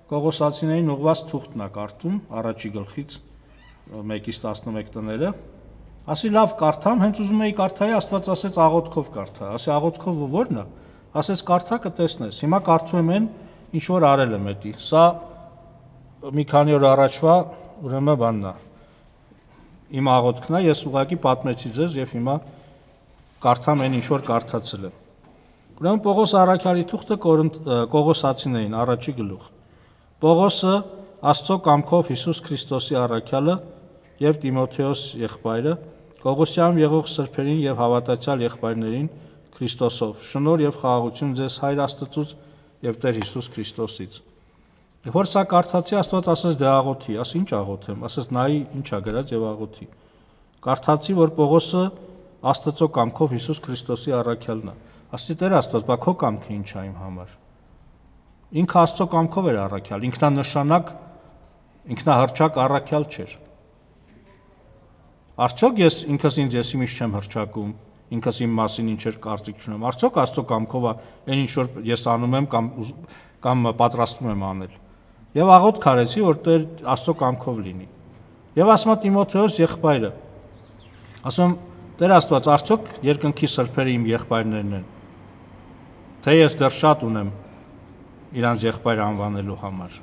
Կողոսացիներին ուղված թուղթն է կարդում, առաջի գլխից մեկից տասնմեկ տները։ Ասի լավ կարդամ, հենց ուզում էի կարդայի, Աստված ասեց աղոթքով կարդա։ Ասի աղոթքով ո՞րն է։ Ասեց կարդա կտեսնես։ Հիմա կարդում եմ այն, ինչ որ արել եմ էդի։ Սա մի քանի օր առաջվա ուրեմն բանն է։ Իմ աղոթքն է, ես ուղղակի պատմեցի ձեզ եւ հիմա կարդամ այն, ինչ որ կարդացել եմ։ Ուրեմն Պողոս առաքյալի թուղթը Կողոսացիներին, առաջի գլուխ։ Պողոսը Աստծո կամքով Հիսուս Քրիստոսի առաքյալը եւ Տիմոթեոս եղբայրը, Կողոսիանում եղող սրբերին եւ հավատացյալ եղբայրներին Քրիստոսով, շնորհ եւ խաղաղություն ձեզ Հայր Աստծուց եւ Տեր Հիսուս Քրիստոսից։ Որ սա կարդացի, Աստված ասեց դե աղոթի, ասի ինչ աղոթեմ, ասեց նայի ինչ ա գրած եւ աղոթի։ Կարդացի, որ Պողոսը Աստծո կամքով Հիսուս Քրիստոսի առաքյալն է։ Ասի Տեր Աստված, բա քո կամքը ինչ է իմ համար։ Ինքը Աստծո կամքով էր առաքյալ, ինքնանշանակ, ինքնահռչակ առաքյալ չէր։ Արդյոք ես ինքս ինձ ես իմիշ չեմ հռչակում, ինքս իմ մասին ինչեր կարծիք չունեմ։ Արդյոք Աստծո կամքով է այն ինչ որ ես անում եմ կամ կամ պատրաստվում եմ անել։ Եվ աղոթք արեցի, որ Տեր Աստծո կամքով լինի։ Եվ ասում է Տիմոթեոս եղբայրը։ Ասում Տեր Աստված, արդյոք երկնքի սրբերը իմ եղբայրներն են։ Թե ես դեռ շատ ունեմ իրանց եղբայր անվանելու համար։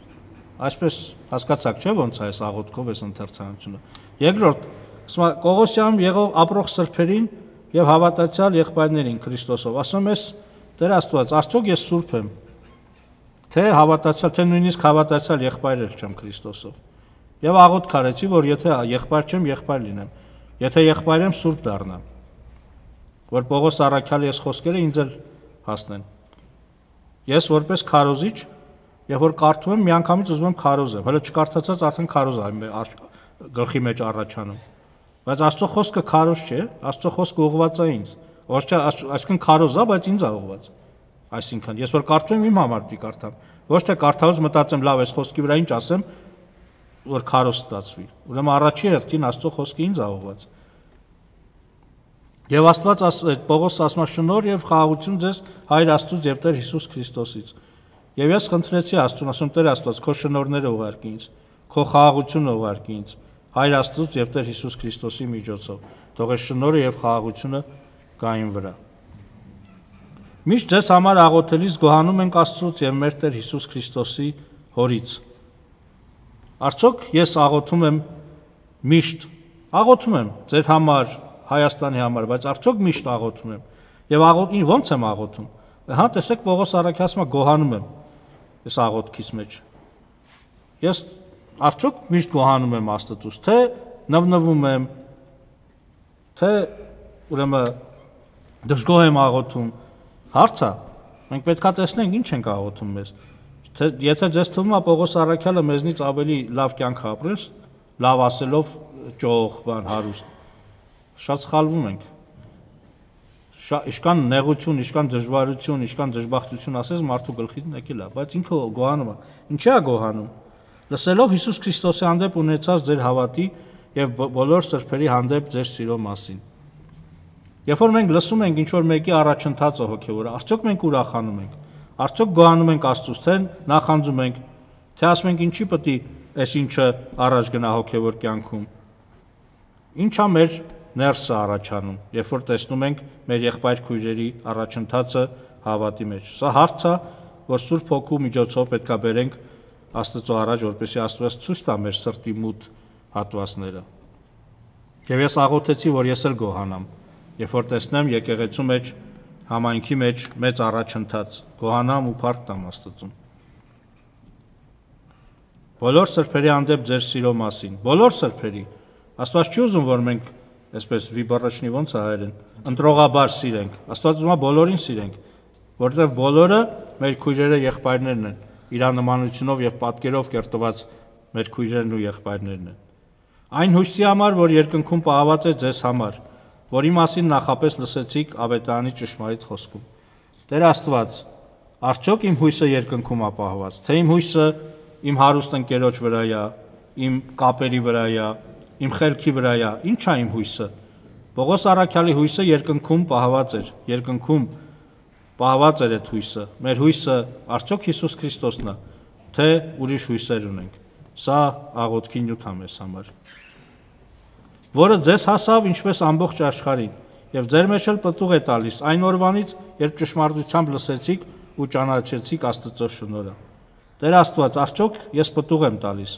Այսպես հասկացաք, չէ՞ ոնց է այս աղոթքով այս ընթերցանությունը։ Երկրորդ, ասում է Կողոսիանում եղող ապրող սրբերին եւ հավատացյալ եղբայրներին Քրիստոսով։ Ասում ես Տեր Աստված, արդյոք ես սուրբ եմ։ Թե հավատացյալ, թե նույնիսկ հավատացյալ եղբայր չեմ Քրիստոսով։ Եվ աղոթք արեցի, որ եթե եղբայր չեմ, եղբայր լինեմ։ Եթե եղբայր եմ, սուրբ դառնամ։ Որ Պողոս առաքյալի այս խոսքերը ինձ էլ հասնեն։ Ես որպես քարոզիչ, եւ որ կարդում եմ, միանգամից ուզում եմ քարոզեմ։ Հələ չկարդացած արդեն քարոզ է գլխի մեջ առաջանում։ Բայց Աստծո խոսքը քարոզ չէ, Աստծո խոսքը ուղղված է ինձ։ Ոչ թե այսինքն քարոզ է, բայց ինձ է ուղղված։ Այսինքն ես որ կարդում եմ իմ համար դի կարդամ։ Ոչ թե կարդալուց մտածեմ լավ, այս խոսքի վրա ինչ ասեմ, որ քարոզ ստացվի։ Ուրեմն առաջի հերթին Աստծո խոսքը ինձ է ուղղված։ Եվ Աստված այդ Պողոս ասում է շնորհ եւ խաղաղություն ձեզ Հայր Աստծուց եւ Տեր Հիսուս Քրիստոսից։ Եվ ես խնդրեցի Աստծուն, ասում Տեր Աստված, քո շնորհները ուղարկի ինձ, քո խաղաղությունը ուղարկի ինձ Հայր Աստծուց եւ Տեր Հիսուս Քրիստոսի միջոցով։ Թող այս շնորհը եւ խաղաղությունը գա իմ վրա։ Միշտ ձեզ համար աղոթելիս գոհանում ենք Աստծուց եւ մեր Տեր Հիսուս Քրիստոսի Հորից։ Արդյոք ես աղոթում եմ միշտ, աղոթում եմ ձեր համար, Հայաստանի համար, բայց արդյոք միշտ աղոթում եմ։ Եվ աղոթին ո՞նց եմ աղոթում։ Հա, տեսեք Պողոս առաքյալը գոհանում եմ այս աղոթքից մեջ։ Ես արդյոք միշտ գոհանում եմ Աստծուց, թե նվնվում եմ, թե ուրեմն դժգոհ եմ աղոթում։ Հարց է։ Մենք պետք է տեսնենք ինչ ենք աղոթում մեզ։ Թե եթե ձեզ թվում է Պողոս առաքյալը մեզնից ավելի լավ կյանք ապրել, լավ ասելով ճոխ, բան հարուստ, շատ սխալվում ենք։ Իշքան նեղություն, իշքան դժվարություն, իշքան դժբախտություն ասես մարդու գլխից եկել է, բայց ինքը գոհանում է։ Ինչի՞ է գոհանում։ Լսելով Հիսուս Քրիստոսի հանդեպ ունեցած ձեր հավատի եւ բոլոր սրբերի հանդեպ ձեր սիրո մասին։ Երբ որ մենք լսում ենք ինչ-որ մեկի առաջընթացը հոգևորը, արդյոք մենք ուրախանում ենք, արդյոք գոհանում ենք Աստծուց, թե նախանձում ենք, թե ասում ենք ինչի պետք է այս ինչը առաջ գնա հոգևոր կյանքում։ Ինչա մեր ներսը առաջանում, երբ որ տեսնում ենք մեր եղբայր քույրերի առաջընթացը հավատի մեջ։ Սա հարց է, որ Սուրբ Հոգու միջոցով պետք է բերենք Աստծո առաջ, որպեսզի Աստված ցույց տա մեր սրտի մութ հատվածները։ Եվ ես աղոթեցի, որ ես էլ գոհանամ, երբ որ տեսնեմ եկեղեցու մեջ, համայնքի մեջ մեծ առաջընթաց, գոհանամ ու փառք տամ Աստծուն։ Բոլոր սրբերի հանդեպ ձեր սիրո մասին, բոլոր սրբերի։ Աստված չի ուզում, որ մենք այսպես վիբառաչնի ոնց է հայերեն, ընտրողաբար սիրենք։ Աստված ուզում է բոլորին սիրենք, որովհետև բոլորը մեր քույրերը, եղբայրներն են, իրանմանությունով եւ պատկերով կերտված մեր քույրերն ու եղբայրներն են։ Այն հույսի համար, որ երկնքում պահված է ձեզ համար, որի մասին նախապես լսեցիք Ավետարանի ճշմարիտ խոսքում։ Տեր Աստված, արդյոք իմ հույսը երկնքում է պահված, թե իմ հույսը իմ հարուստ ընկերոջ վրա է, իմ կապերի վրա է, իմ խելքի վրա է, ի՞նչ է իմ հույսը։ Պողոս առաքյալի հույսը երկնքում պահված էր, երկնքում պահված էր այդ հույսը։ Մեր հույսը արդյոք Հիսուս Քրիստոսն է, թե ուրիշ հույսեր ունենք։ Սա աղոթքի նյութ է մեզ համար, որը ձեզ հասավ ինչպես ամբողջ աշխարհին, եւ ձեր մեջ էլ պտուղ է տալիս այն օրվանից, երբ ճշմարտությամբ լսեցիք ու ճանաչեցիք Աստծո շնորհը։ Տեր Աստված, արդյոք ես պտուղ եմ տալիս,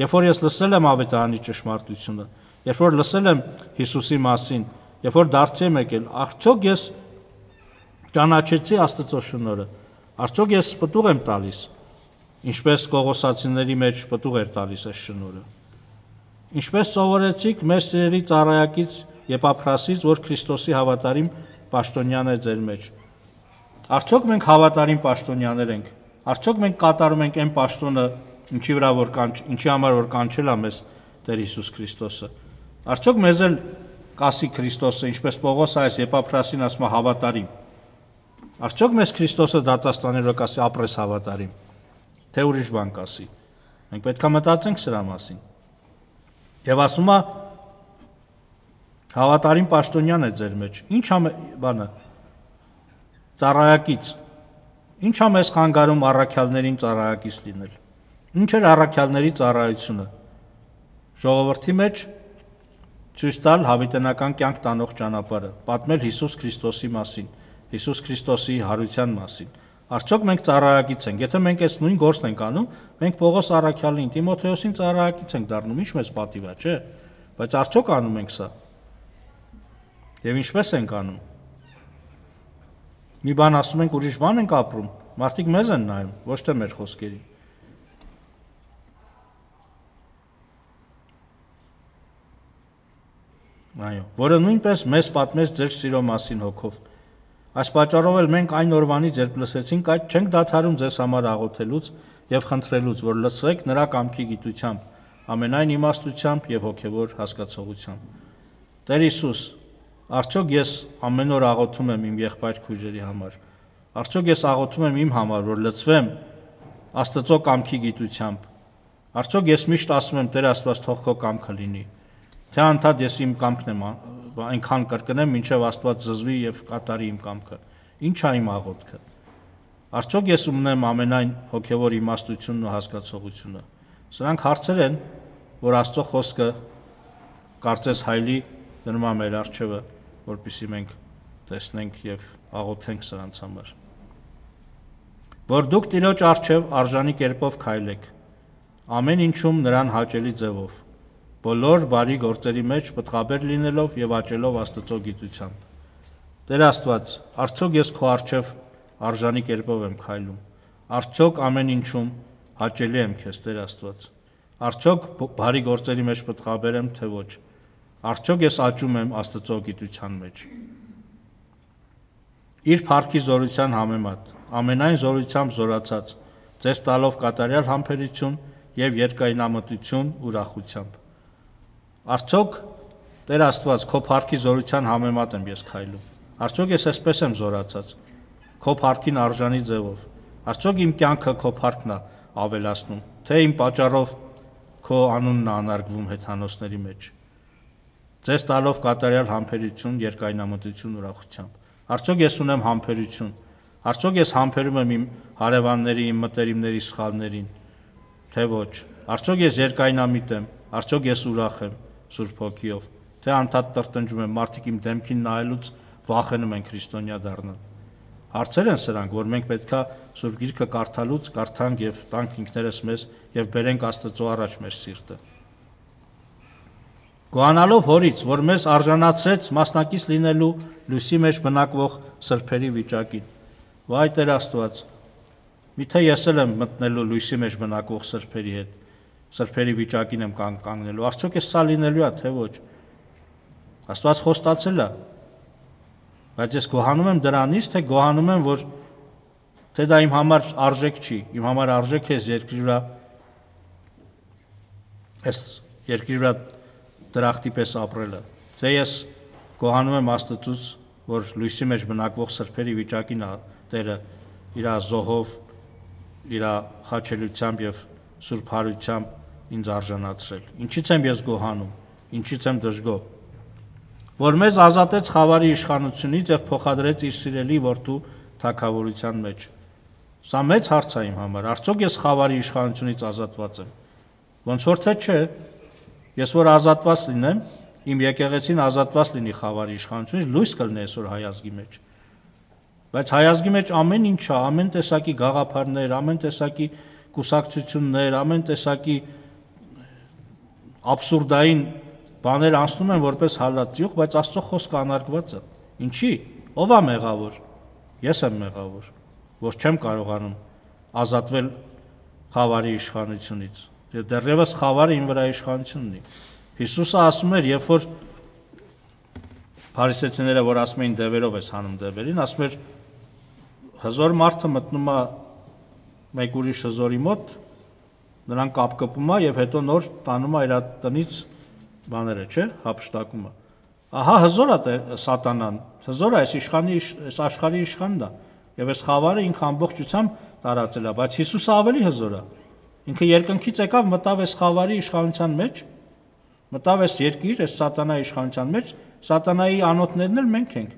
երբ որ ես լսել եմ Ավետարանի ճշմարտությունը, երբ որ լսել եմ Հիսուսի մասին, երբ որ դարձի եմ եկել, արդյոք ես ճանաչեցի Աստծո շնորհը, արդյոք ես պտուղ եմ տալիս, ինչպես Կողոսացիների մեջ պտուղ էր տալիս այս շնորհը։ Ինչպես սովորեցիք մեր սիրելի ծառայակից Եփափրասից, որ Քրիստոսի հավատարիմ պաշտոնյան է ձեր մեջ։ Արդյոք մենք հավատարիմ պաշտոնյաներ ենք։ Արդյոք մենք կատարում ենք այն պաշտոնը, ինչի վրա որ կանչ, ինչի համար որ կանչել է մեզ Տեր Հիսուս Քրիստոսը։ Արդյոք մեզ էլ կասի Քրիստոսը, ինչպես Պողոս այս Եփափրասին ասում է հավատարիմ։ Արդյոք մեզ Քրիստոսը դատաստանելով կասի ապրես հավատարիմ, թե ուրիշ բան կասի։ Մենք պետք է մտածենք սրա մասին։ Եվ ասում է հավատարիմ պաշտոնյան է ձեր մեջ։ Ինչ է բանը ծառայակից։ Ինչ է մեզ խանգարում առաքյալներին ծառայակից լինել։ Ինչ էր առաքյալների ծառայությունը։ Ժողովրդի մեջ ցույց տալ հավիտենական կյանք տանող ճանապարհը, պատմել Հիսուս Քրիստոսի մասին, Հիսուս Քրիստոսի հարության մասին։ Արդյոք մենք ծառայակից ենք։ Եթե մենք այս նույն գործն ենք անում, մենք Պողոս առաքյալին, Տիմոթեոսին ծառայակից ենք դառնում, ինչ մեզ պատիվ է, չէ՞։ Բայց արդյոք անում ենք սա։ Եվ ինչպես ենք անում։ Մի բան ասում ենք, ուրիշ բան ենք ապրում, մարդիկ մեզ են նայում, ոչ թե մեր խոսքերին։ Այո, որը նույնպես մեզ պատմեց ձեր սիրո մասին հոգով։ Այս պատճառով էլ մենք այն օրվանից, երբ լսեցինք, այդ չենք դադարում ձեզ համար աղոթելուց եւ խնդրելուց, որ լսվեք նրա կամքի գիտությամբ, ամենայն իմաստությամբ եւ հոգեվոր հասկացողությամբ։ Տեր Հիսուս, արդյոք ես ամեն օր աղոթում եմ իմ եղբայր քույրերի համար։ Արդյոք ես աղոթում եմ իմ համար, որ լցվեմ Աստծո կամքի գիտությամբ։ Արդյոք ես միշտ ասում եմ, Տեր Աստված, թող քո կամքը լինի։ Թե անդադ ես իմ կամքն եմ այնքան կրկնեմ, մինչև Աստված զզվի եւ կատարի իմ կամքը։ Ինչ է իմ աղոթքը։ Արդյոք ես ունեմ ամենայն հոգեվոր իմաստությունն ու հասկացողությունը։ Սրանք հարցեր են, որ Աստծո խոսքը կարծես հայլի դնում է մեր առջևը, որպեսզի մենք տեսնենք եւ աղոթենք սրանց համար։ Որ դուք Տիրոջ առջև արժանի կերպով քայլեք, ամեն ինչում նրան հաճելի ձևով, բոլոր բարի գործերի մեջ պտղաբեր լինելով եւ աճելով Աստծո գիտությամբ։ Տեր Աստված, արդյոք ես քո առջև արժանի կերպով եմ քայլում։ Արդյոք ամեն ինչում հաճելի եմ քեզ, Տեր Աստված։ Արդյոք բարի գործերի մեջ պտղաբեր եմ, թե ոչ։ Արդյոք ես աճում եմ Աստծո գիտության մեջ։ Իր փառքի զորության համեմատ, ամենայն զորությամբ զորացած, ձեզ տալով կատարյալ համբերություն եւ երկայնամտություն ուրախությամբ։ Արդյոք Տեր Աստված, քո փառքի զորության համեմատ եմ ես քայլում։ Արդյոք ես այսպես եմ զորացած, քո փառքին արժանի ձևով։ Արդյոք իմ կյանքը քո փառքն է ավելացնում, թե իմ պատճառով քո անունն անարգվում հեթանոսների մեջ, ձեզ տալով կատարյալ համբերություն, երկայնամտություն, ուրախությամբ։ Արդյոք ես ունեմ համբերություն, արդյոք ես համբերում եմ իմ հարևանների, իմ մտերիմների սխալներին, թե ոչ, արդյոք ես երկայնամիտ եմ, արդյոք ես ուրախ եմ Սուրբ Հոգիով, թե անդադ տրտնջում եմ, մարդիկ իմ դեմքին նայելուց վախենում են քրիստոնյա դառնալ։ Հարցեր են սրանք, որ մենք պետքա Սուրբ Գիրքը կարդալուց կարդանք եւ տանք ինքներս մեզ եւ բերենք Աստծո առաջ մեր սիրտը։ Գոհանալով Հորից, որ մեզ արժանացրեց մասնակից լինելու լույսի մեջ բնակվող սրբերի վիճակին։ Վայ Տեր Աստված, միթե ես էլ եմ մտնելու լույսի մեջ բնակվող սրբերի հետ, սրբերի վիճակին եմ կանգնելու, արդյոք է սա լինելու է, թե ոչ։ Աստված խոստացել է, բայց ես գոհանում եմ դրանից, թե գոհանում եմ, որ թե դա իմ համար արժեք չի, իմ համար արժեք է երկրի վրա, այս երկրի վրա դրախտի պես ապրելը, թե ես գոհանում եմ Աստծուց, որ լույսի մեջ բնակվող սրբերի վիճակին Տերը իր զոհով, իր խաչելությամբ եւ սուրբ հարությամբ ինձ արժանացրել։ Ինչից եմ ես գոհանում, ինչից եմ դժգոհ, որ մեզ ազատեց խավարի իշխանությունից եւ փոխադրեց իր սիրելի որդու թագավորության մեջ։ Սա մեծ հարց է իմ համար, արդյոք ես խավարի իշխանությունից ազատված եմ։ Ոնց որ թե չէ, ես որ ազատված լինեմ, իմ եկեղեցին ազատված լինի խավարի իշխանությունից, լույս կլինի այսօր հայ ազգի մեջ։ Բայց հայ ազգի մեջ ամեն ինչ է, ամեն տեսակի գաղափարներ, ամեն տեսակի կուսակցություններ, ամեն տեսակի աբսուրդային բաներ անցնում են որպես հալածյուղ, բայց Աստծո խոսքը անարգված է։ Ինչի՞։ Ո՞վ է մեղավոր։ Ես եմ մեղավոր, որ չեմ կարողանում ազատվել խավարի իշխանությունից։ Եվ դեռևս խավարը իմ վրա իշխանություն ունի։ Հիսուսը ասում էր, երբ որ փարիսեցիները, որ ասում էին դևերով ես հանում դևերին, ասում էր հզոր մարդը մտնում է մեկ ուրիշ հզորի մոտ, նրան կապկպում է եւ հետո նոր տանում է իր տնից բաները, չէ, հափշտակում է։ Ահա հզոր է սատանան, հզոր է այս իշխանի, այս աշխարհի իշխանն է, եւ այս խավարը ինքը ամբողջությամբ տարածել է, բայց Հիսուսը ավելի հզոր է։ Ինքը երկնքից եկավ, մտավ այս խավարի իշխանության մեջ, մտավ այս երկիր, այս սատանայի իշխանության մեջ, սատանայի անոթներն էլ մենք ենք։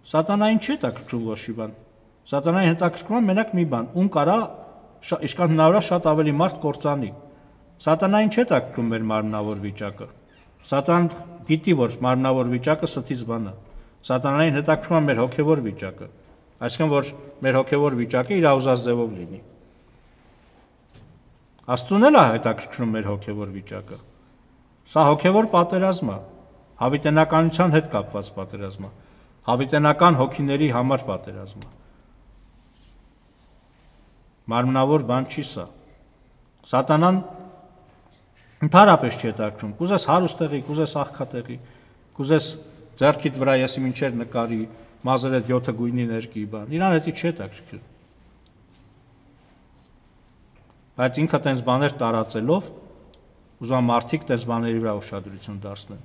Սատանային չի հետաքրքրում ոչ մի բան։ Սատանային հետաքրքրում է մենակ մի բան, ում կարա ինչքան հնարավոր է շատ ավելի մարդ կործանի։ Սատանային չի հետաքրքրում մեր մարմնավոր վիճակը։ Սատանան գիտի, որ մարմնավոր վիճակը ստից բան է։ Սատանային հետաքրքրում է մեր հոգևոր վիճակը, այսինքն որ մեր հոգևոր վիճակը իր ուզած ձևով լինի։ Աստծուն էլ է հետաքրքրում մեր հոգևոր վիճակը։ Սա հոգևոր պատերազմ է, հավիտենականության հետ կապված պատերազմ է, հավիտենական հոգիների համար պատերազմ է։ Մարմնավոր բան չի սա։ Սատանան ընդհանրապես չի հետաքրքրում։ Կուզես հարուստեղի, կուզես աղքատեղի, կուզես ձեռքիդ վրա ես իմ ինչեր նկարի, մազերդ յոթը գույնի ներկի բան։ Իրան հետի չի հետաքրքրում։ Բայց ինքը տենց բաներ տարածելով, ուզում է մարդիկ տենց բաների վրա ուշադրություն դարձնեն։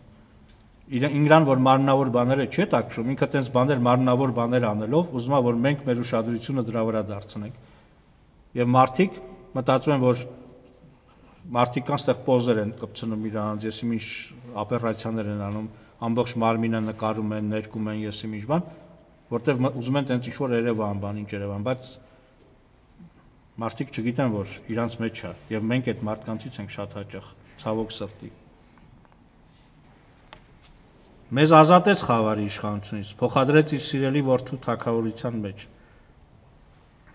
Իրան, որ մարմնավոր բաները չի հետաքրքրում, ինքը տենց բաներ մարմնավոր բաներ անելով, ուզում է, որ մենք մեր ուշադրությունը դրա վրա դարձնենք։ Եվ մարդիկ մտածում են, որ մարդիկ կան ստեղ պոզեր են կպցնում իրանց, ես իմ ինչ օպերացիաներ են անում, ամբողջ մարմինը նկարում են, ներկում են, ես իմ ինչ բան, որտեվ ուզում են տենց ինչ-որ Երևան բան, ինչ Երևան, բայց մարդիկ չգիտեն, որ իրանց մեջ է, եւ մենք այդ մարդկանցից ենք շատ հաճախ, ցավոք սրտի։ Մեզ ազատեց խավարի իշխանությունից, փոխադրեց իր սիրելի որդու թագավորության մեջ։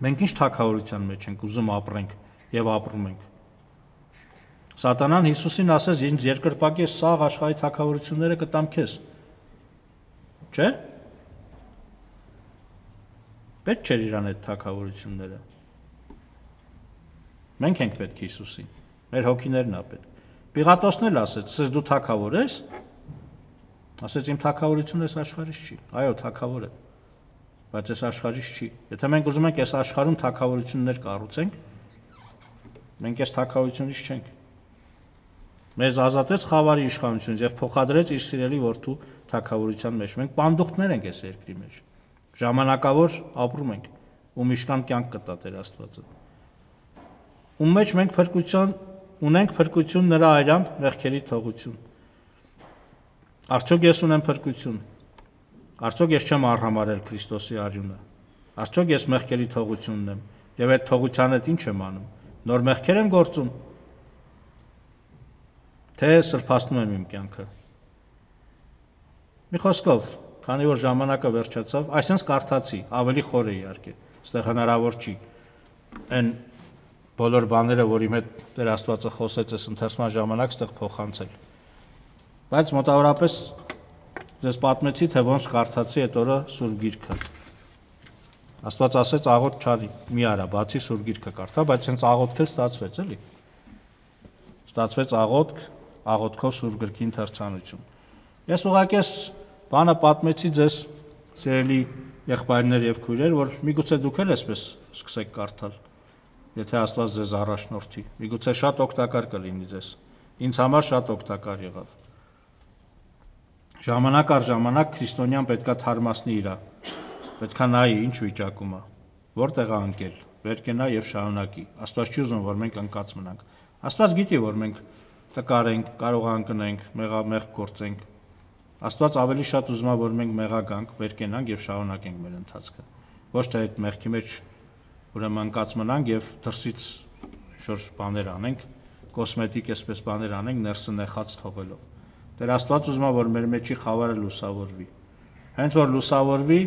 Մենք ինչ թագավորության մեջ ենք ուզում ապրենք եւ ապրում ենք։ Սատանան Հիսուսին ասեց, ինձ երկրպագի սաղ աշխարհի թագավորությունները կտամ քեզ։ Չէ՞։ Պետք չէր իրան այդ թագավորությունները։ Մենք ենք պետք Հիսուսին, մեր հոգիներն է պետք։ Պիղատոսն էլ ասեց, ասես դու թագավոր ես, ասեց իմ թագավորությունը այս աշխարհից չի։ Այո, թագավոր է, բայց այս աշխարհից չի։ Եթե մենք ուզում ենք այս աշխարհում թագավորություններ կառուցենք, մենք այս թագավորությունից չենք։ Մեզ ազատեց խավարի իշխանությունից եւ փոխադրեց իր սիրելի որդու թագավորության մեջ։ Մենք պանդուխտներ ենք այս երկրի մեջ։ Ժամանակավոր ապրում ենք, ում իշքան կյանք կտա Տեր Աստվածը։ ում մեջ մենք փրկություն ունենք փրկություն նրա այրամբ մեղքերի թողություն։ Արդյոք ես ունեմ փրկություն։ Արդյոք ես չեմ արհամարել Քրիստոսի արյունը։ Արդյոք ես մեղքերի թողություն ունեմ եւ այդ թողության հետ ինչ եմ անում։ Նոր մեղքեր եմ գործում։ Թե սրբացնում եմ իմ կյանքը։ Մի խոսքով, քանի որ ժամանակը վերջացավ, այսինքն կարդացի, ավելի խոր է իհարկե, այստեղ հնարավոր չի այն բոլոր բաները, որի հետ Տեր Աստվածը խոսեց այս ընթերցման ժամանակ, այստեղ փոխանցել։ Բայց մոտավորապես ձեզ պատմեցի, թե ոնց կարդացի այդ օրը Սուրբ Գիրքը։ Աստված ասեց աղոթք չարի, մի արա, բացի Սուրբ Գիրքը կարդա, բայց հենց աղոթքել ստացվեց, էլի։ Ստացվեց աղոթք, աղոթքով Սուրբ Գրքի ընթերցանություն։ Ես ուղղակի այս բանը պատմեցի ձեզ, սիրելի եղբայրներ եւ քույրեր, որ միգուցե դուք էլ այսպես սկսեք կարդալ, եթե Աստված ձեզ առաջնորդի, միգուցե շատ օգտակար կլինի ձեզ։ Ինձ համար շատ օգտակար եղավ։ Ժամանակ առ ժամանակ քրիստոնյան պետքա թարմացնի իրա, պետքա նայի ինչ վիճակում է, որտեղ է անկել, վեր կենա եւ շարունակի։ Աստված չի ուզում, որ մենք անկած մնանք։ Աստված գիտի, որ մենք տկար ենք, կարող անკնենք, մեղամեղ գործենք։ Աստված ավելի շատ ուզում է, որ մենք մեղագանք, վեր կենանք եւ շարունակենք մեր ընթացքը։ Ոչ թե այդ մեղքի մեջ ուրեմն անկած մնանք եւ դրսից շուրջ բաներ անենք, կոսմետիկ այսպես բաներ անենք, ներսը նեխած թողելով։ Տեր Աստված ուզում է, որ մեր մեջի խավարը լուսավորվի։ Հենց որ լուսավորվի,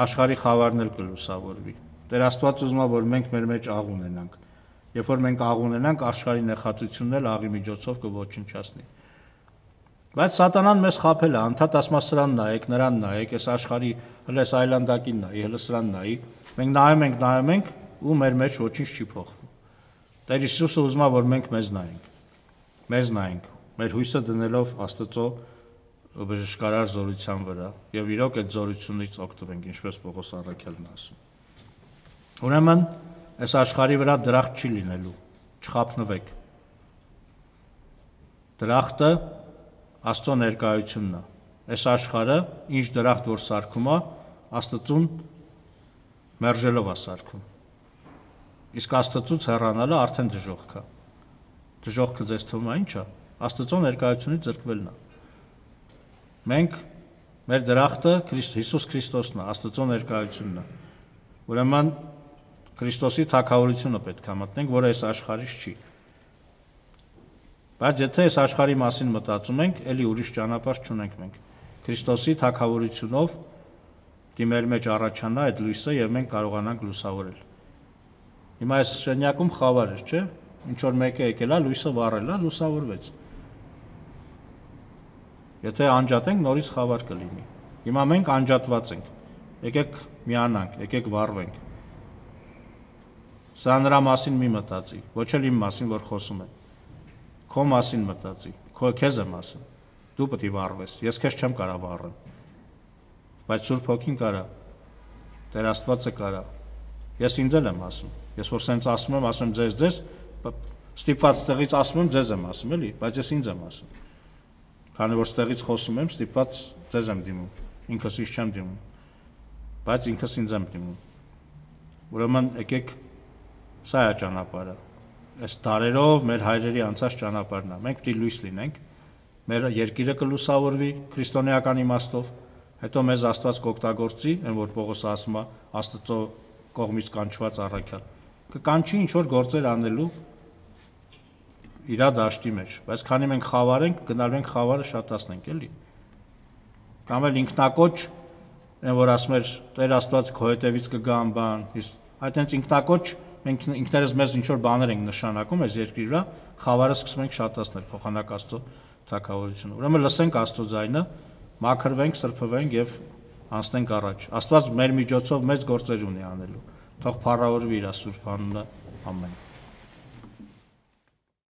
աշխարհի խավարն էլ կլուսավորվի։ Տեր Աստված ուզում է, որ մենք մեր մեջ աղ ունենանք։ Երբ որ մենք աղ ունենանք, աշխարհի նեխածությունն էլ աղի միջոցով կոչնչացնի։ Բայց Սատանան մեզ խաբել է, անդադ ասма սրան նայեք, նրան նայեք, այս աշխարհի հլես այլանդակին նայի, հլը սրան նայի։ Մենք նայում ենք, նայում ենք ու մեր մեջ ոչինչ չի փոխվում։ Տեր Հիսուսը ուզում է, որ մենք մեզ նայենք։ Մեզ նայենք, մեր հույսը դնելով Աստծո բժշկարար զորության վրա եւ իրոք այդ զորությունից օգտվենք, ինչպես Պողոս առաքյալն ասում։ Ուրեմն այս աշխարհի վրա դրախտ չի լինելու, չխափնվեք։ Դրախտը Աստծո ներկայությունն է։ Այս աշխարհը ինչ դրախտ որ սարքում է, Աստծուն մերժելով է սարքում։ Իսկ Աստծուց հեռանալը արդեն դժոխք է։ Դժոխքը ձեզ թվում է ինչ է։ Աստծո ներկայությունից զրկվելն է։ Մենք մեր դրախտը Քրիստ Հիսուս Քրիստոսն է, Աստծո ներկայությունն է։ Ուրեմն Քրիստոսի թագավորությունը պետք է մտնենք, որը այս աշխարհից չի։ Բայց եթե այս աշխարհի մասին մտածում ենք, ելի ուրիշ ճանապարհ չունենք մենք։ Քրիստոսի թագավորությունով դիմեր մեջ առաջանա այդ լույսը եւ մենք կարողանանք լուսավորել։ Հիմա այս շենյակում խավար էր, չէ՞։ Ինչ որ մեկը եկել է, լույսը վառել է, լուսավորվեց։ Եթե անջատենք, նորից խավար կլինի։ Հիմա մենք անջատված ենք։ Եկեք միանանք, եկեք վառվենք։ Սա նրա մասին մի մտածի, ոչ էլ իմ մասին, որ խոսում եմ։ Քո մասին մտածի, քո քեզ եմ ասում։ Դու պետք է վառվես, ես քեզ չեմ կարող վառել։ Բայց Սուրբ Հոգին կարա, Տեր Աստվածը կարա։ Ես ինձ էլ եմ ասում։ Ես որ սենց ասում եմ, ասում եմ ձեզ, ձեզ, ստիպված տեղից ասում եմ, ձեզ եմ ասում, էլի, բայց ես ինձ եմ ասում։ Քանի որ ստեղից խոսում եմ, ստիպված ձեզ եմ դիմում, ինքս ինձ չեմ դիմում։ Բայց ինքս ինձ եմ դիմում։ Ուրեմն եկեք սա է ճանապարհը։ Այս դարերով մեր հայրերի անցած ճանապարհն է։ Մենք պետք է լույս լինենք, մեր երկիրը կլուսավորվի քրիստոնեական իմաստով, հետո մեզ Աստված կօգտագործի, այն որ Պողոսը ասում է, Աստծո կողմից կանչված առաքյալ։ Կկանչի ինչ որ գործեր անելու իր դաշտի մեջ, բայց քանի մենք խավար ենք, գնալու ենք խավարը շատացնենք, էլի։ Կամ էլ ինքնակոչ, այն որ ասում էր Տեր Աստված քո հետևից կգան բան, այդ հենց ինքնակոչ մենք ինքներս մեզ ինչ որ բաներ ենք նշանակում այս երկրի վրա, խավարը սկսում ենք շատացնել փոխանակ Աստծո թագավորությունը։ Ուրեմն լսենք Աստծո ձայնը, մաքրվենք, սրբվենք եւ անցնենք առաջ։ Աստված մեր միջոցով մեծ գործեր ունի անելու։ Թող փառավորվի իր սուրբ անունը։ Ամեն։